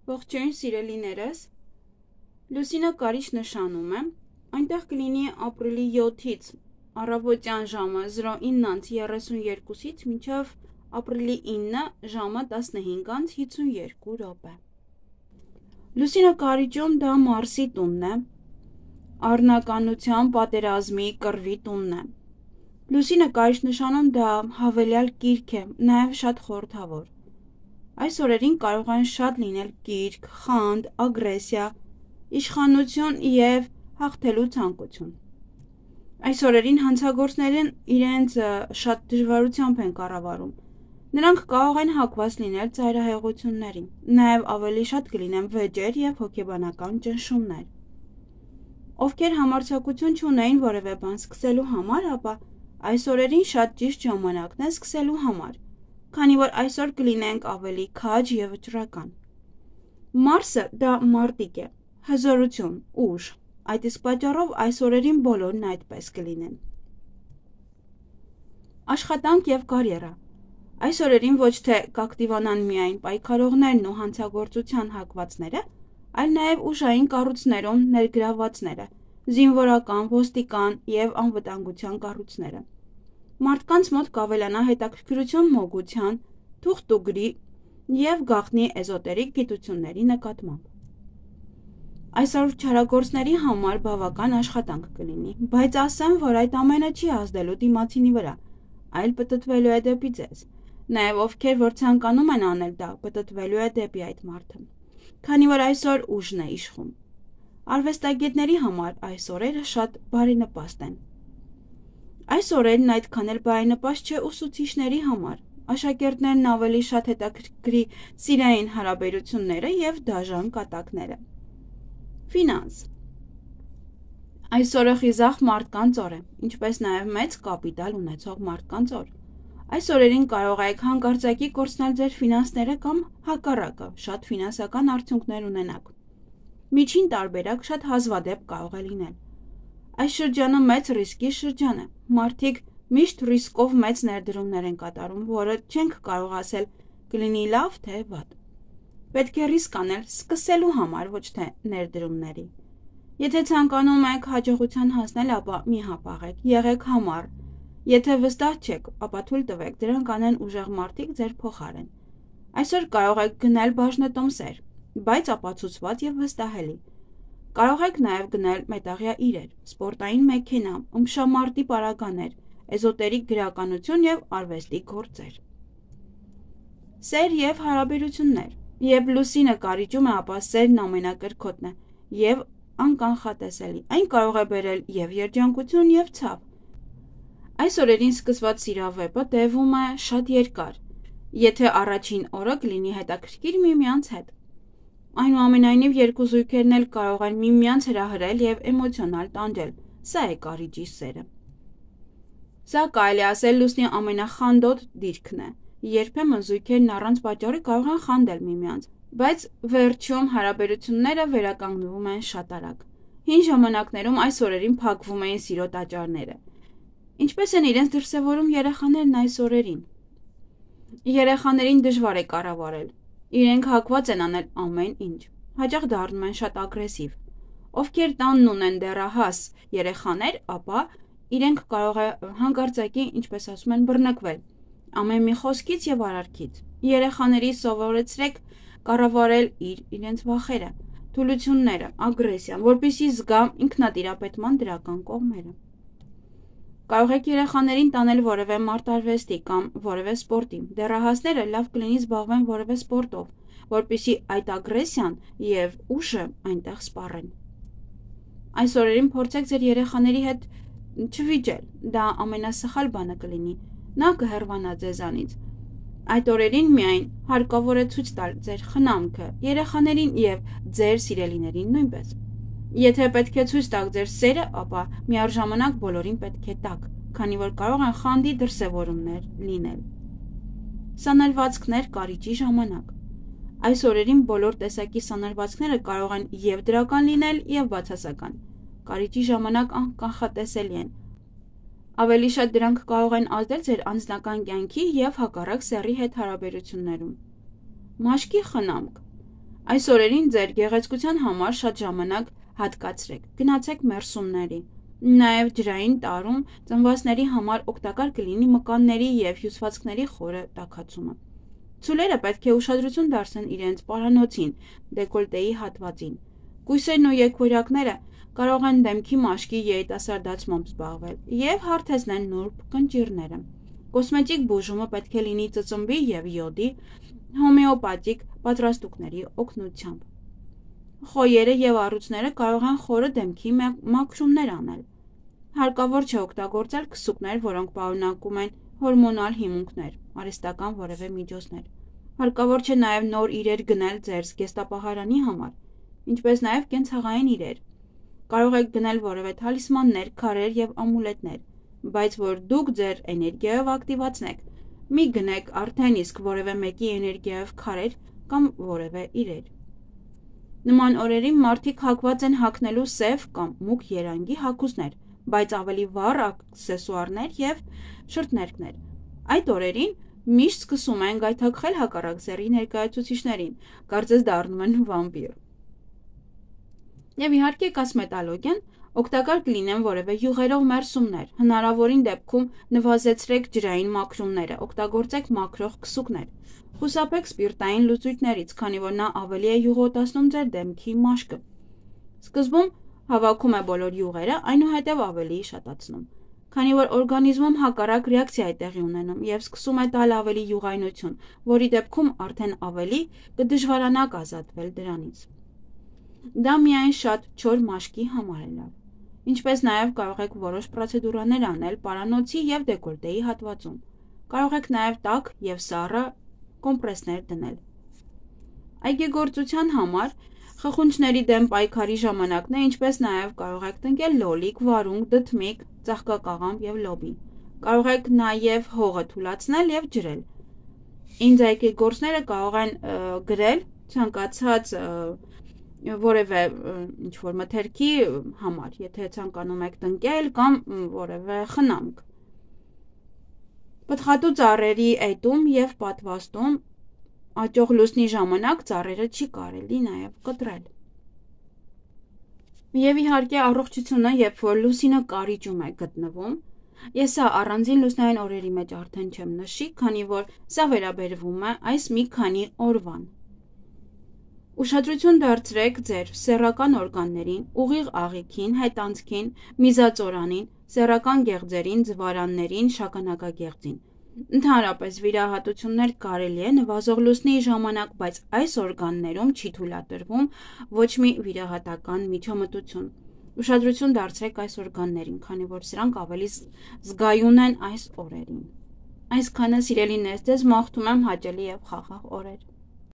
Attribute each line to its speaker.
Speaker 1: Ողջույն սիրելիներս, Լուսինը Կարիչ նշանում է, այնտեղ կլինի ապրիլի 7-ից առավոտյան ժամը 09:32-ից մինչև ապրիլի 9 ժամը 15:52 րոպե։ Լուսինը Կարիճում դա Մարսի տունն է, առնականության, պատերազմի, կռվի տունն է։ Լուսինը Կարիչ նշանում դա հավելյալ կիրք է, նաև շատ խորհրդավոր։ Այս օրերին կարող են շատ լինել կիրք, խանդ, ագրեսիա, իշխանություն և հաղթելու ցանկություն։ Այս օրերին հանցագործներն իրենց շատ դժվարությամբ են կառավարում։ Նրանք կարող են հակված լինել ծայրահեղություններին, նաև ավելի շատ կլինեն վեճեր և հոգեբանական ճնշումներ։ Ովքեր համարձակություն չունեին որևէ բան սկսելու համար, ապա այս օրերին շատ ճիշտ ժամանակն է սկսելու համար, քանի որ այսօր կլինենք ավելի քաջ և վճռական։ Մարսը դա մարտիկ է, հզորություն, ուժ, այդ իսկ պատճառով այս օրերին բոլորն այդպես կլինեն։ Աշխատանք և կարիերա։ Այս օրերին ոչ թե կակտիվանան միայն պայքարողներն ու հանցագործության հակվածները, այլ նաև ուժային կառույցներում ներգրավվածները, զինվորական, ոստիկան և անվտանգության կառույցները։ Մարդկանց մոտ կավելանա հետաքրքրություն մոգության, թուղթուգրի և գաղտնի էզոտերիկ գիտությունների նկատմամբ։ Այսօր չարագործների համար բավական աշխատանք կլինի, բայց ասեմ, որ այդ ամենը չի ազդելու դիմացինի վրա, այլ պտտվելու է դեպի ձեզ։ Նաև ովքեր որ ցանկանում են անել դա, պտտվելու է դեպի այդ մարդը, քանի որ այսօր ուժն է իշխում։ Արվեստագետների համար այս օրերը շատ բարենպաստ են։ Այս օրերն այդքան էլ բարենպաստ չէ ուսուցիչների համար։ Աշակերտներն ավելի շատ հետաքրքրի սիրային հարաբերությունները և դաժան կատակները։ Ֆինանս։ Այս օրը խիզախ մարդկանց օր է, ինչպես նաև մեծ կապիտալ ունեցող մարդկանց օր։ Այս օրերին կարող եք հանկարծակի կորցնել ձեր ֆինանսները կամ հակառակը, շատ ֆինանսական արդյունքներ ունենաք։ Միջին տարբերակ շատ հազվադեպ կարող է լինել։ Այս շրջանը մեծ ռիսկի շրջան է։ Մարդիկ միշտ ռիսկով մեծ ներդրումներ են կատարում, որը չենք կարող ասել կլինի լավ, թե վատ։ Պետք է ռիսկ անել սկսելու համար, ոչ թե ներդրումների։ Եթե ցանկանում եք հաջողության հասնել, ապա մի հապաղեք, եղեք համառ։ Եթե վստահ չեք, ապա թույլ տվեք դրանք անեն ուժեղ մարդիկ ձեր փոխարեն։ Այսօր կարող եք գնել բաժնետոմսեր, բայց ապացուցված և վստահելի։ Կարող եք նաև գնել մետաղյա իրեր, սպորտային մեքենա, ըմբշամարտի պարագաներ, էզոտերիկ գրականություն և արվեստի գործեր։ Սեր և հարաբերություններ։ Երբ Լուսինը Կարիճում է, ապա սերն ամենակրքոտն է և անկանխատեսելի։ Այն կարող է բերել և երջանկություն, և ցավ։ Այս օրերին սկսված սիրավեպը տևում է շատ երկար, եթե առաջին օրը կլինի հետաքրքիր միմյանց հետ։ Այնուամենայնիվ երկու զույգերն էլ կարող են միմյանց հրահրել և էմոցիոնալ տանջել։ Սա է Կարիճի սերը։ Սա կարելի ասել Լուսնի ամենախանդոտ դիրքն է։ Երբեմն զույգերն առանց պատճառի կարող են խանդել միմյանց, բայց վերջում հարաբերությունները վերականգնվում են շատ արագ։ Հին ժամանակներում այս օրերին փակվում էին սիրո տաճարները։ Ինչպես են իրենց դրսևորում երեխաներն այս օրերին։ Երեխաներին դժվար է կառավարել։ Իրենք հակված են անել ամեն ինչ։ Հաճախ դառնում են շատ ագրեսիվ։ Ովքեր տանն ունեն դեռահաս երեխաներ, ապա իրենք կարող է հանկարծակի, ինչպես ասում են, բռնկվել ամեն մի խոսքից և արարքից։ Երեխաների սովորեցրեք կառավարել իրենց վախերը, թուլությունները, ագրեսիան, որպեսզի զգա ինքնատիրապետման դրական կողմերը։ Կարող եք երեխաներին տանել որևէ մարտարվեստի կամ որևէ սպորտի։ Դեռահասները լավ կլինի զբաղվեն որևէ սպորտով, որպեսզի այդ ագրեսիան և ուժը այնտեղ սպառեն։ Այս օրերին փորձեք ձեր երեխաների հետ չվիճել, դա ամենասխալ բանը կլինի, նա կհեռվանա ձեզանից։ Այդ օրերին միայն հարկավոր է ցույց տալ ձեր խնամքը երեխաներին և ձեր սիրելիներին նույնպես։ Եթե պետք է ցույց տաք ձեր սերը, ապա միառժամանակ բոլորին պետք է տաք, քանի որ կարող են խանդի դրսևորումներ լինել։ Սանրվածքներ Կարիճի ժամանակ։ Այս օրերին բոլոր տեսակի սանրվածքները կարող են և դրական լինել, և բացասական։ Կարիճի ժամանակ անկանխատեսելի են։ Ավելի շատ դրանք կարող են ազդել ձեր անձնական կյանքի և հակառակ սեռի հետ հարաբերություններում։ Մաշկի խնամք։ Այս օրերին ձեր գեղեցկության համար շատ ժամանակ հատկացրեք, գնացեք մերսումների։ Նաև ջրային տարում ծնվածների համար օգտակար կլինի մկանների և հյուսվածքների խորը տաքացումը։ Ցուլերը պետք է ուշադրություն դարձնեն իրենց պարանոցին, դեկոլտեի հատվածին։ Կույսերն ու եկվորյակները կարող են դեմքի մաշկի երիտասարդացմամբ զբաղվել և հարթեցնեն նուրբ կնճիռները։ Կոսմետիկ բուժումը պետք է լինի ծծմբի և յոդի, հոմեոպաթիկ պատրաստուկների օգնությամբ։ Խոյերը և առյուծները կարող են խորը դեմքի մաքրումներ անել։ Հարկավոր չէ օգտագործել քսուկներ, որոնք պարունակում են հորմոնալ հիմունքներ, արհեստական որևէ միջոցներ։ Հարկավոր չէ նաև նոր իրեր գնել ձեր զգեստապահարանի համար, ինչպես նաև կենցաղային իրեր։ Կարող եք գնել որևէ թալիսմաններ, քարեր և ամուլետներ, բայց որ դուք ձեր էներգիայով ակտիվացնեք, մի գնեք արդեն իսկ որևէ մեկի էներգիայով քարեր կամ որևէ իրեր։ Նման օրերին մարդիկ հակված են հագնելու սև կամ մուգ երանգի հագուստներ, բայց ավելի վառ աքսեսուարներ և շրթներքներ։ Այդ օրերին միշտ սկսում են գայթակղել հակառակ սեռի ներկայացուցիչներին, կարծես դառնում են վամպիր։ Եվ իհարկե կոսմետոլոգիան օգտակար կլինեն որևէ յուղերով մերսումներ, հնարավորին դեպքում նվազեցրեք ջրային մաքրումները, օգտագործեք մաքրող քսուկներ։ Խուսափեք սպիրտային լուծույթներից, քանի որ նա ավելի է յուղոտացնում ձեր դեմքի մաշկը։ Սկզբում հավաքում է բոլոր յուղերը, այնուհետև ավելի շատացնում։ Քանի որ օրգանիզմում հակառակ ռեակցիա է տեղի ունենում և սկսում է տալ ավելի յուղայնություն, որի դեպքում արդեն ավելի կդժվարանաք ազատվել դրանից։ Դա միայն շատ չոր մաշկի համար է լավ։ Ինչպես նաև կարող եք որոշ պրոցեդուրաներ անել պարանոցի և դեկոլտեի հատվածում։ Կարող եք նաև տաք և սառը կոմպրեսներ դնել։ Այգեգործության համար խխունջների դեմ պայքարի ժամանակն է, ինչպես նաև կարող եք տնկել լոլիկ, վարունգ, դդմիկ, ծաղկակաղամբ և լոբի։ Կարող եք նաև հողը թուլացնել և ջրել։ Ինձ այգեգործները կարող են գրել ցանկացած որևէ ինչ-որ մթերքի համար, եթե ցանկանում եք տնկել կամ որևէ խնամք։ Պտղատու ծառերի էտում և պատվաստում աճող լուսնի ժամանակ ծառերը չի կարելի նաև կտրել։ Եվ իհարկե առողջությունը, երբ որ լուսինը կարիճում է գտնվում, ես սա առանձին լուսնային օրերի մեջ արդեն չեմ նշի, քանի որ սա վերաբերվում է այս մի քանի օրվան։ Ուշադրություն դարձրեք ձեր սեռական օրգաններին, ուղիղ աղիքին, հետանցքին, միզածորանին, սեռական գեղձերին, ձվարաններին, շագանակագեղձին։ Ընդհանրապես վիրահատություններ կարելի է նվազող լուսնի ժամանակ, բայց այս օրգաններում չի թույլատրվում ոչ մի վիրահատական միջամտություն։ Ուշադրություն դարձրեք այս օրգաններին, քանի որ սրանք ավելի զգայուն են այս օրերին։ Այսքանը սիրելիներ, ձեզ մաղթում եմ հաճելի և խաղաղ օրեր։